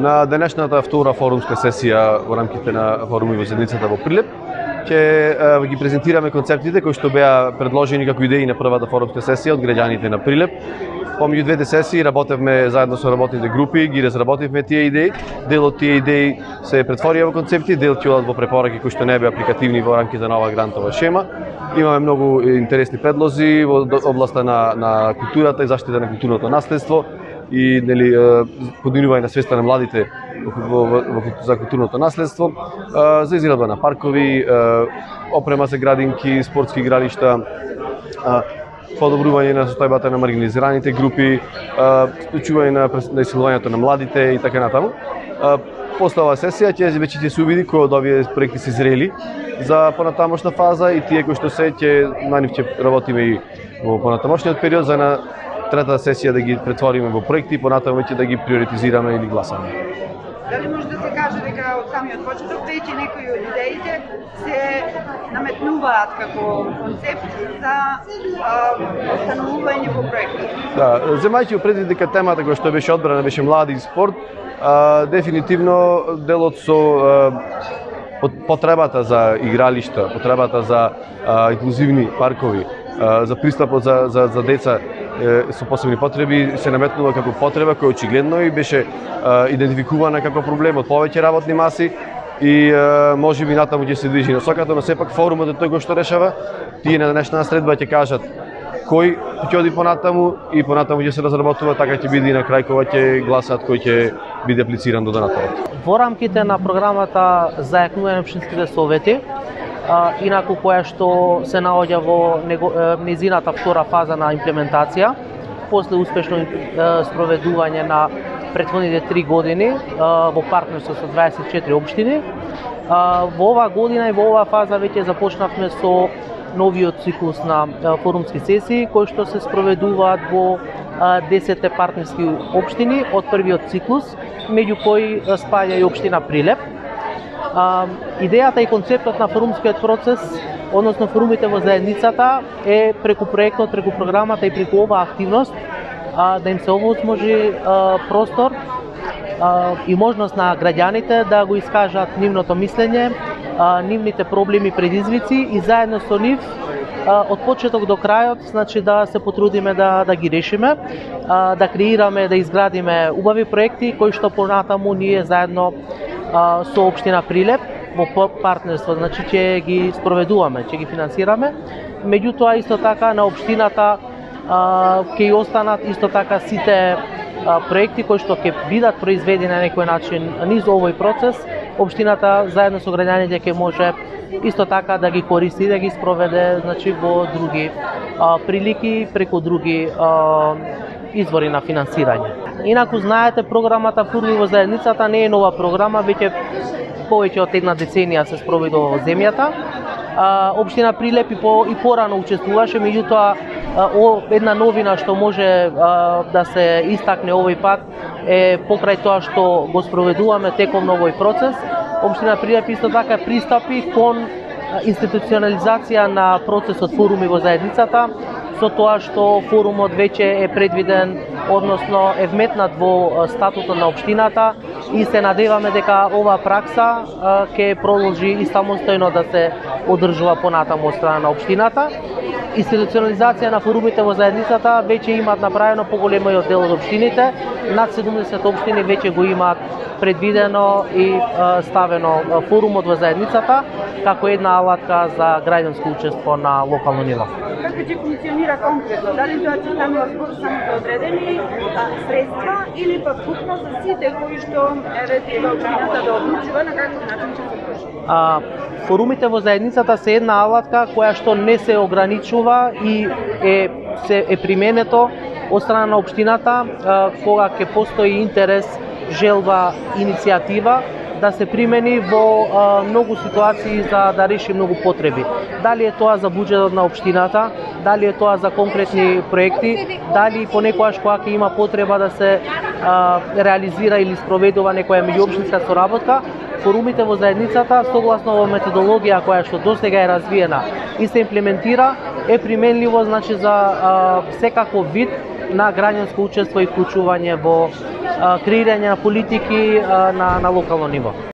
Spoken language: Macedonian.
На денешната втора форумска сесија во рамките на форумот во заедницата во Прилеп ќе ги презентираме концептите кои што беа предложени како идеи на првата форумска сесија од граѓаните на Прилеп. Помеѓу двете сесии работевме заедно со работните групи, ги разработивме тие идеи. Дел од тие идеи се претворија во концепти, дел ќе одат во препораки кои што не беа апликативни во рамките на оваа грантова шема. Имаме многу интересни предлози во областа на културата и заштита на културното наследство и подигнување на свеста на младите за културното наследство, за изградба на паркови, опрема за градинки, спортски игралишта, подобрување на состојбата на маргинализираните групи, вклучување на исилувањето на младите и така натаму. После оваа сесија ќе се увиди кои од овие проекти се зрели за понатамошна фаза и тие кои што на нив ќе работиме и во понатамошниот период за на третата сесија да ги претвориме во проекти и понатаму ќе да ги приоритизираме или гласаме. Дали може да се каже дека од самиот почеток веќе некои од идеите се наметнуваат како концепт за останување во проекти? Да, земајќи предвид дека темата која што беше одбрана беше млади и спорт, дефинитивно делот со потребата за игралишта, потребата за инклузивни паркови, за пристапот за деца со посебни потреби се наметнува како потреба која очигледно и беше идентификувана како проблем од повеќе работни маси и можеби натаму ќе се движи насоката, но сепак форумот е тој кој што решава. Тие на денешната средба ќе кажат кој ќе оди понатаму и понатаму ќе се разработува, така ќе биде и на крај кога ќе гласат кој ќе биде аплициран до донатор. Во рамките на програмата за јакнување на општинските совети, инаку која што се наоѓа во незината втора фаза на имплементација, после успешно спроведување на претходните 3 години во партнерство со 24 општини. Во оваа година и во оваа фаза веќе започнавме со новиот циклус на форумски сесии кои што се спроведуваат во 10 партнерски општини од првиот циклус, меѓу кои спаѓа и општина Прилеп. Идејата и концептот на форумскиот процес, односно форумите во заедницата, е преку проектот, преку програмата и преку оваа активност да им се овозможи простор и можност на граѓаните да го искажат нивното мислење, нивните проблеми и предизвици и заедно со нив од почеток до крајот, значи да се потрудиме да ги решиме, да креираме, да изградиме убави проекти кои што понатаму ние заедно со општина Прилеп во партнерство, значи ќе ги спроведуваме, ќе ги финансираме. Меѓутоа исто така на општината ќе останат исто така сите проекти кои што ќе бидат произведени на некој начин низ овој процес. Општината заедно со граѓаните ќе може исто така да ги користи, да ги спроведе, значи во други прилики, преку други извори на финансирање. Инаку знаете, програмата Форуми во заедницата не е нова програма, веќе повеќе од една деценија се спроведува во земјата. Општина Прилеп и порано учествуваше, меѓутоа една новина што може да се истакне овој пат е покрај тоа што го спроведуваме теком на овој процес. Општина Прилеп исто така пристапи кон институционализација на процесот Форуми во заедницата, со тоа што форумот веќе е предвиден, односно е вметнат во статутот на општината и се надеваме дека оваа пракса ќе продолжи и самостојно да се одржува понатаму од страна на општината. Институционализација на форумите во заедницата веќе имаат направено поголемиот дел од општините, над 70 општини веќе го имаат предвидено и ставено форумот во заедницата како една алатка за граѓанско учество на локално ниво. Како ќе функционира конкретно? Дали тоа ќе станува само за одредени средства или пак вкупно за сите кои што треба општината да одлучува на каков начин ќе се врши? Форумите во заедницата се една алатка која што не се ограничува и е применето од страна на општината кога ќе постои интерес, желба, иницијатива да се примени во многу ситуации за да реши многу потреби. Дали е тоа за буџетот на општината, дали е тоа за конкретни проекти, дали понекогаш кога ќе има потреба да се реализира или спроведува некоја меѓуопштинска соработка, форумите во заедницата согласно во методологија која што досега е развиена и се имплементира е применливо, значи за секаков вид на граѓанско учество и вклучување во креирање на политики на локално ниво.